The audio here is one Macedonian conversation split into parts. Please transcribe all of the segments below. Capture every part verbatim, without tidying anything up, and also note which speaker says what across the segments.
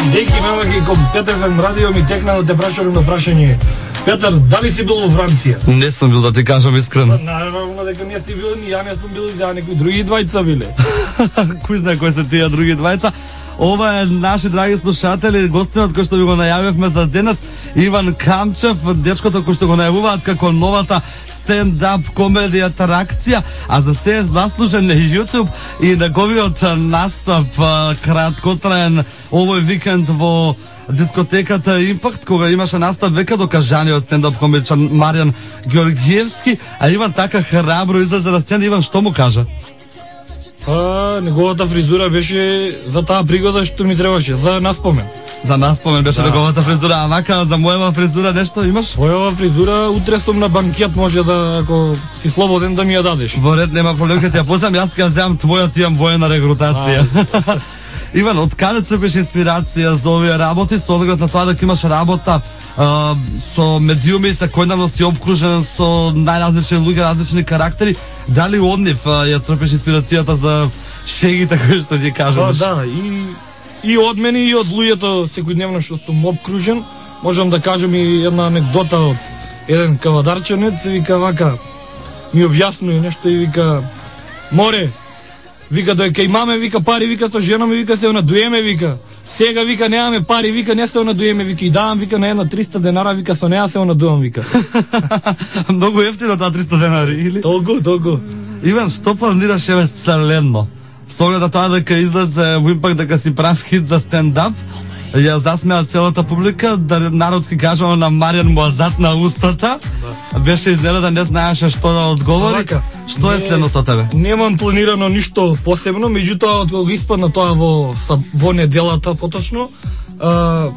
Speaker 1: Дејки мелаки кон Петар еф ем радио ми текна да те прашам на прашање. Петар, дали си бил во Франција?
Speaker 2: Не сум бил, да ти кажам искрено.
Speaker 1: Наравно дека не си бил, ни ја не сум бил, и да некои други двајца биле.
Speaker 2: Кој знае кои се тие други двајца? Ова е наши драги слушатели, гостинот кој што ви го најавивме за денес, Иван Камчев, дечкото кој што го најавуваат како новата стендап комедија атракција, а за се заслужен на YouTube и неговиот настап краткотраен овој викенд во дискотеката Импакт, кога имаше настап века докажаниот стендап комедичар Маријан Георгиевски, а Иван така храбро излезе на сцена. Иван, што му кажа?
Speaker 1: Па, неговата фризура беше за таа пригода што ми требаше, за наспомен.
Speaker 2: За наспомен беше да. Неговата фризура, а вака за мојава фризура нешто имаш?
Speaker 1: Мојава фризура, утре сум на банкет, може да, ако си слободен, да ми ја дадеш.
Speaker 2: Во ред, нема проблем, ќе ти ја позам, јас ќе ја земам твојот, имам воена регрутација. Иван, од каде црпиш инспирација за овие работи, со оглед на тоа дека имаш работа а, со медиуми, секојдневно си обкружен со најразлични луѓе, различни карактери, дали од нив ја црпиш инспирацијата за шегите кои што ги кажуваш?
Speaker 1: Да, да, и и од мене и од луѓето секојдневно што сум обкружен. Можам да кажам и една анекдота од еден кавадарченец, вика вака, ми објаснува нешто и вика: море, вика дојка имаме, вика пари, вика со жена ми, вика се онадуеме, вика. Сега вика немаме пари, вика не се онадуеме, вика и давам, вика на една триста денара, вика со неа се онадувам, вика.
Speaker 2: Многу ефтино таа триста денари, или?
Speaker 1: Толку, толку.
Speaker 2: Иван, што планираш еве следно? Со оглед на тоа дека излезе во Импакт дека си прав хит за стендап, ја засмеа целата публика, да народски кажано на Маријан му затна устата. Да. Беше изненадан, не знаеше што да одговори. Вака, што е следно со тебе?
Speaker 1: Немам планирано ништо посебно, меѓутоа од кога испадна тоа во во неделата поточно, а,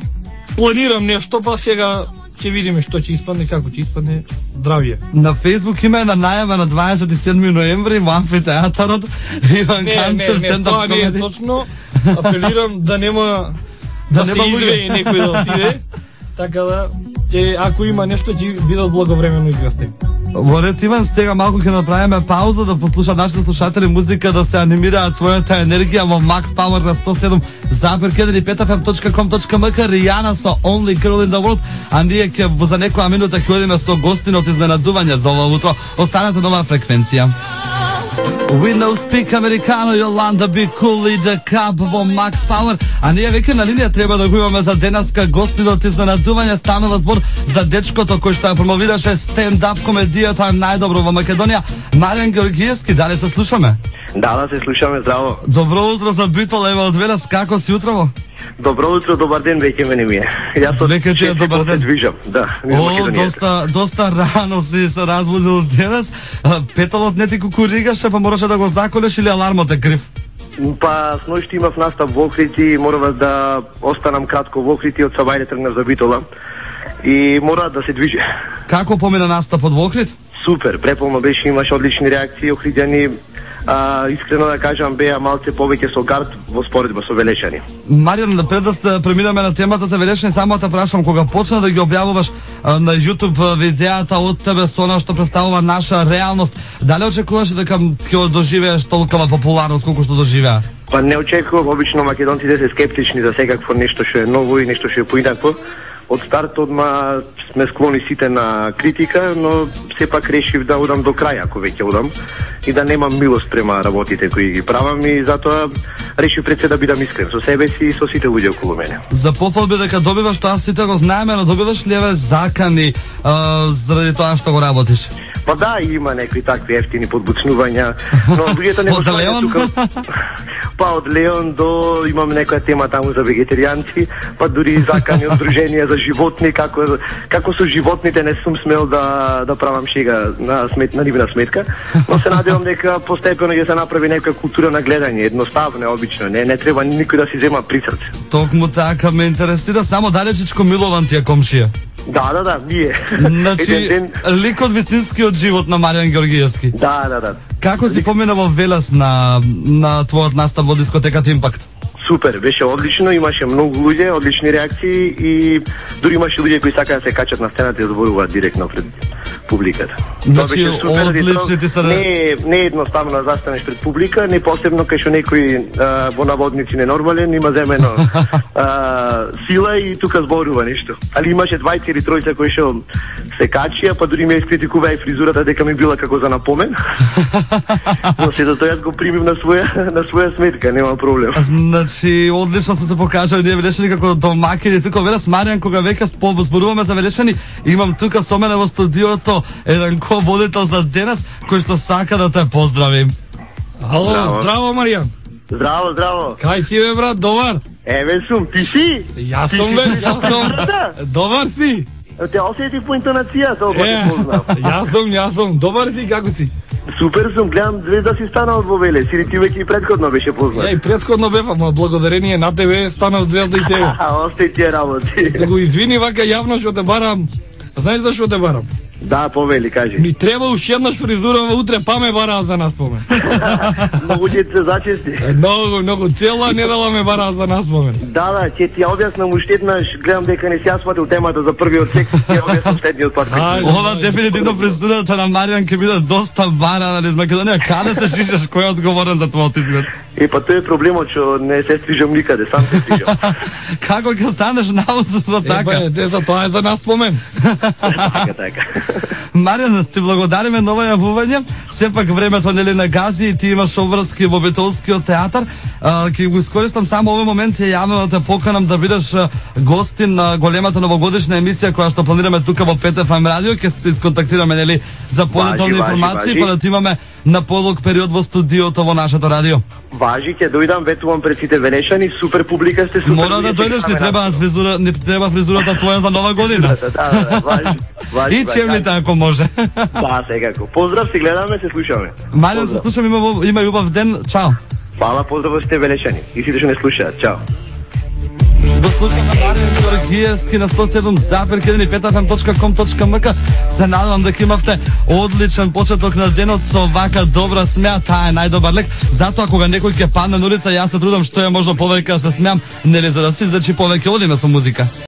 Speaker 1: планирам нешто, па сега ќе видиме што ќе испадне, како ќе испадне. Здравје.
Speaker 2: На Фейсбук има една најава на дваесет и седми ноември во амфитеатарот. Иван Камчев стендап комеди.
Speaker 1: Не, не, тоа не е точно. Апелирам да нема да, да се извеи некој да отиде. Така да, ќе, ако има нешто, ќе бидат благовремено играсти.
Speaker 2: Во ред, Иван, сега малку ќе направиме пауза да послушаат нашите слушатели музика, да се анимираат својата енергија во Max Power на сто седум запир еден и пет еф ем точка ком точка ем ка. Ријана со Only Girl in the World, а ние ќе за некоја минута ќе одиме со гостинот изненадување за ова утро. Останете на оваа фреквенција. We know speak Americano, Јоланда Be Cool и The Cub во Max Power. А ние веќе на линија треба да го имаме за денеска гостинот изненадување. Станува збор за дечкото кој што ја промовираше стендап комедијата најдобро во Македонија, Маријан Георгиевски. Дали се слушаме?
Speaker 3: Да, да се слушаме, здраво.
Speaker 2: Добро утро за Битол, ева од Велес, како си утрово?
Speaker 3: Добро утро, добар ден, веќе мене ми е. Јас од
Speaker 2: веќе ти е добар ден.
Speaker 3: Движам, да.
Speaker 2: О, доста, доста рано си се разбудил денес. Петолот не ти кукуригаше, па мораше да го заколеш или алармот е крив?
Speaker 3: Па, сноќи имав настап во Охрид и морав да останам кратко во Охрид и од Сабајле тргнав за Битола. И мора да се движи.
Speaker 2: Како помина настапот во Охрид?
Speaker 3: Супер, преполно беше, имаше одлични реакции, охриѓани. А, искрено да кажам, беа малце повеќе со гард во споредба со Велешани.
Speaker 2: Маријан, пред да преминеме на темата за Велешани, само да прашам, кога почна да ги објавуваш а, на YouTube видеата од тебе со она што представува наша реалност, дали очекуваш дека ќе доживееш толкова популарност колку што доживеа?
Speaker 3: Па не очекувам, обично македонците се скептични за секакво нешто што е ново и нешто што е поинакво. Од старт одма сме склони сите на критика, но сепак решив да одам до крај, ако веќе одам, и да немам милост према работите кои ги правам, и затоа решив пред се да бидам искрен со себе си и со сите луѓе околу мене.
Speaker 2: За пофалби дека добиваш тоа сите го знаеме, но добиваш ли еве закани а, заради тоа што го работиш?
Speaker 3: Па да, има некои такви ефтини подбуцнувања, но луѓето не го знаат тука. Па од Леон до имаме некоја тема таму за вегетаријанци, па дури и закани од друженија за животни, како како со животните не сум смел да да правам шега на смет на нивна сметка, но се надевам дека постепено ќе се направи некоја култура на гледање, едноставно, обично, не не треба никој да си зема при срце.
Speaker 2: Токму така ме интересира, само далечичко Милован ти е комшија.
Speaker 3: Да, да, да, ние.
Speaker 2: Значи, ден... ликот вистинскиот живот на Маријан Георгиевски.
Speaker 3: Да, да, да.
Speaker 2: Како си помина во Велес на на твојот настап во дискотеката Импакт?
Speaker 3: Супер, беше одлично, имаше многу луѓе, одлични реакции и дури имаше луѓе кои сакаа да се качат на сцената и да зборуваат директно пред публиката.
Speaker 2: Значи, одлични ти се...
Speaker 3: Не, не е едноставно да застанеш пред публика, не посебно кај што некој а, во наводници ненормален, има земено а, сила и тука зборува нешто. Али имаше двајца или тројца кои што се качија, па дури ме искритикува и фризурата дека ми била како за напомен. Но сето тоа јас го примив на своја на своја сметка, нема проблем.
Speaker 2: Значи, одлично сме се покажали ние Велешани како домакини тука верас Маријан кога веќе зборуваме за Велешани, имам тука со мене во студиото еден ко-водител за денес кој што сака да те поздравим.
Speaker 1: Ало, здраво, здраво Маријан.
Speaker 3: Здраво, здраво.
Speaker 1: Кај си бе брат, добар?
Speaker 3: Еве сум, ти си?
Speaker 1: Јас сум бе, јас сум. Добар си?
Speaker 3: Те осетив по интонација, толку те познав.
Speaker 1: Јас сум, јас сум. Добар си, како си?
Speaker 3: Супер сум, гледам звезда си станал во Велес, или ти веќе и предходно беше познат.
Speaker 1: Еј, предходно бев, ама благодарение на тебе станав звезда и сега.
Speaker 3: Остај тие работи.
Speaker 1: Да го извини вака јавно што те барам. Знаеш зашо те барам?
Speaker 3: Да, повели, кажи.
Speaker 1: Ми треба уште еднаш фризура утре, па ме бараа за наспомен.
Speaker 3: Многу ќе се зачести.
Speaker 1: Многу, многу, цела недела ме бараа за наспомен.
Speaker 3: Да, да, ќе ти ја објаснам уште еднаш, гледам дека не си ја сватил темата за првиот секс, ќе ја објаснам следниот пат.
Speaker 2: Ова дефинитивно фризурата на Маријан ќе биде доста бара, нали, из Македонија. Каде се шишаш, кој е одговорен за твојот изглед?
Speaker 3: Е, па тоа е проблемот, што не се стрижам никаде, сам се стрижам.
Speaker 2: Како ќе станеш наудно така?
Speaker 1: Е, па, тоа е за наспомен.
Speaker 3: Така, така.
Speaker 2: Маријан, ти благодариме на ова јавување. Сепак времето нели на гази и ти имаш обврски во Битолскиот театар. Ќе го искористам само овој момент и јавно да те поканам да бидеш гостин на големата новогодишна емисија која што планираме тука во пет еф ем радио. Ќе се исконтактираме нели за подетални информации, па да ти имаме на подолг период во студиото во нашето радио.
Speaker 3: Важи, ќе дојдам, ветувам пред сите Велешани, супер публика сте, супер.
Speaker 2: Мора да дојдеш, не треба фризура, не треба фризурата твоја за нова година.
Speaker 3: Да, да, да, важи. Важи,
Speaker 2: и чемните ако може.
Speaker 3: Да, секако. Поздрав, се гледаме, се слушаме.
Speaker 2: Маријан, се слушам, има има љубав ден. Чао.
Speaker 3: Фала, поздрав сте Велешани. И сите што не слушаат. Чао.
Speaker 2: Го слушаме Маријан Георгиевски на сто и седум запир еден и пет еф ем точка ком точка ем ка. Се надевам дека имавте одличен почеток на денот со вака добра смеа, таа е најдобар лек. Затоа кога некој ќе падне на улица, јас се трудам што е можно повеќе да се смеам, нели за да се излечи повеќе, одиме со музика.